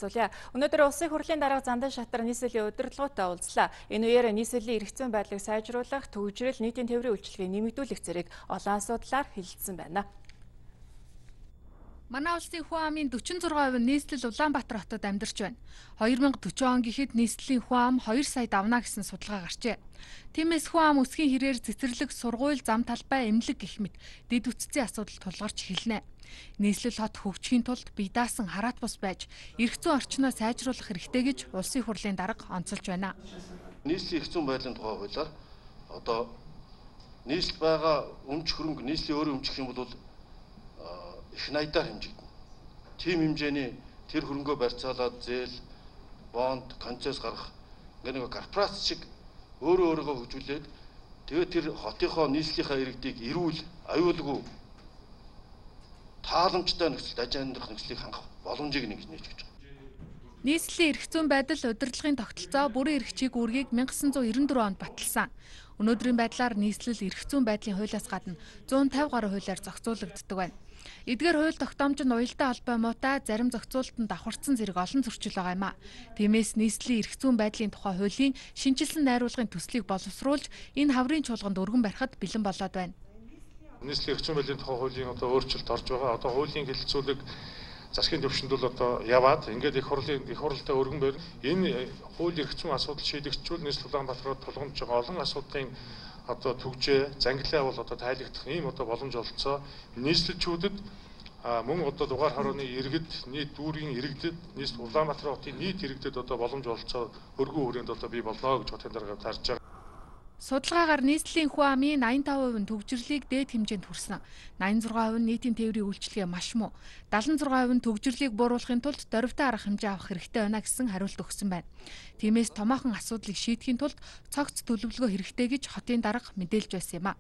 танилцуулъя. Өнөөдөр улсын хурлын дарга Зандан шатар нийслэлийн удирдлагуудаа уулзлаа. Энэ үеэр нийслэлийн эрх зүйн байдлыг сайжруулах, төвөгжрөл, нийтийн тээврийн үйлчилгээг нэмэгдүүлэх зэрэг олон асуудлаар хэлэлцсэн байна. Манай улсын хүн амын 46% нь нийслэл Улаанбаатар хотод амьдарч байна. 2040 он гэхэд нийслэлийн хүн ам 2 сая давна гэсэн судалгаа гарчээ. Тиймээс хүн ам өсгийн хэрээр цэцэрлэг, сургууль, зам талбай, эмнэлэг гэх мэт дэд үтцийн асуудал тулгарч эхэлнэ. Нийслэл хот хөгжихийн тулд бие даасан хараат бус байж, эрх зүйн орчноо сайжруулах хэрэгтэй гэж улсын хурлын дарга онцолж байна. Нийслэлийн эрх зүйн байдлын тухай хуулиар одоо нийслэл байгаа өмч хөрөнгө нийслэлийн өөрийн өмч гэх юм бол их найдаар хэмжигдэнэ. Тим хэмжээний тэр хөрөнгөө барьцаалаад зээл, бонд, концесс гаргах нэг корпорац шиг өөрөөгөө хөгжүүлээд тэгээд тэр хотынхоо нийслэлийнхаа иргэдийг эрүүл, аюулгүй тааламжтай нөхцөлд аж амьдрах нөхцөлийг хангах боломжийг нээж өгч байгаа. Нийслэлийн эрх зүйн байдал удирдлагын тогтолцоо бүрэн эрхчийг үүргийг 1994 онд баталсан. Өнөөдрийн байдлаар нийслэл эрх зүйн байдлын хуулиас гадна 150 гаруй хуулиар зохицуулагддаг байна. Эдгээр хууль тогтоомж нь уялдаа холбоо муутай зарим зохицуулалтанд давхарсан зэрэг олон зөрчил байгаа юм а. Тиймээс нийслэлийн эрх зүйн байдлын тухай хуулийн шинжилсэн найруулгын төслийг боловсруулж энэ хаврын чуулганд өргөн барихад бэлэн болоод байна. Нийслэлийн эрх зүйн байдлын тухай хуулийн одоо өөрчлөлт орж байгаа. Одоо хуулийн хэлэлцүүлэг засгийн төвшөнд бол одоо яваад ингээд их хурлтай өргөн барь. Энэ хууль эрх зүйн асуудал шийдэгдчихвэл нийслэл Улаанбаатарт тулгамж байгаа олон асуудлын одоо төгжээ, зангилаа бол одоо тайлагдах ийм одоо боломж олцоо. Нийслэлчүүдэд мөн одоо дугаар хорооны иргэд, нийт дүүргийн иргэдэд, нийслэл Улаанбаатар хотын нийт иргэдэд одоо боломж олцоо өргөн хүрээнд одоо бий болно гэж хотын дарга тарж байгаа. Судалгаагаар нийслэлийн хүн амын 85% нь төгжрлийг дээд хэмжээнд хүрсэн. 86% нь нийтийн тээврийн үйлчилгээ маш муу. 76% нь төгжрлийг бууруулахын тулд дорвитой арга хэмжээ авах хэрэгтэй байна гэсэн хариулт өгсөн байна. Тиймээс томоохон асуудлыг шийдэхийн тулд цогц төлөвлөгөө хэрэгтэй гэж хотын дарга мэдээлж байсан юм а.